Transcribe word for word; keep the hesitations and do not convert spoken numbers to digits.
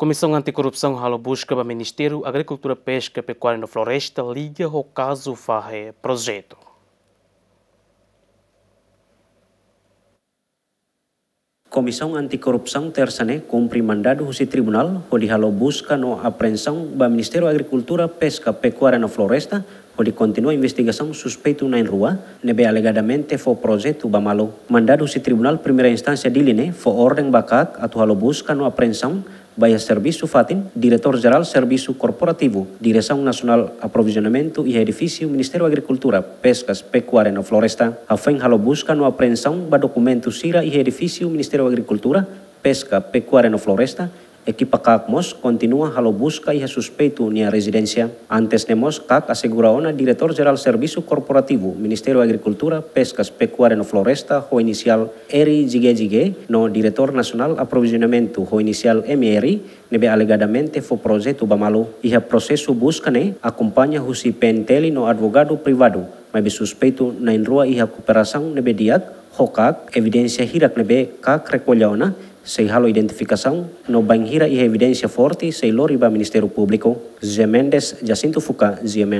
Komisaun Anti-Korrupsaun halo buska ba Ministériu Agrikultura, Peska, Pekuária no Floresta liga ho kazu fahe projetu. Komisaun Anti-Korrupsaun Tersa ne'e kumpre mandadu husi tribunál hodi halo buska no apreensaun ba Ministériu Agrikultura, Peska, Pekuária no Floresta hodi kontinua investigasaun suspeitu na'in rua ne'ebé alegadamente fó projetu ba malu. Mandadu husi Tribunál Primeira Instánsia Dili ne'e fó orden ba KAK atu halo buska no apreensaun ba iha servisu fatin, Diretór Jerál Servisu Korporativu, Diresaun Nasionál Aprovizionamentu iha edifísiu Ministériu Agrikultura, Peskas, Pekuária no Floresta. Hafoin halo buska no apreensaun ba dokumentu sira iha edifísiu Ministériu Agrikultura, Peska, Pekuária no Floresta, ekipa KAK mós kontinua halo buska iha suspeitu nia rezidénsia. Antes ne'e mós KAK asegura ona Diretór Jerál Servisu Korporativu Ministériu Agrikultura, Peskas, Pekuária no Floresta ho inisiál R J G J G no Diretór Nasionál Aprovizionamentu ho inisiál M R ne'ebé alegadamente fó projetu ba malu. Iha prosesu buska ne'e akompaña husi P N T L no advogadu privadu, maibé suspeitu na'in rua iha kooperasaun ne'ebé di'ak ho KAK, evidénsia hirak ne'ebé KAK rekolla ona sei halo identifikasaun no bainhira iha evidénsia forte sei lori ba Ministériu Públiku. José Mendes, Jacinto Fuca, G M N.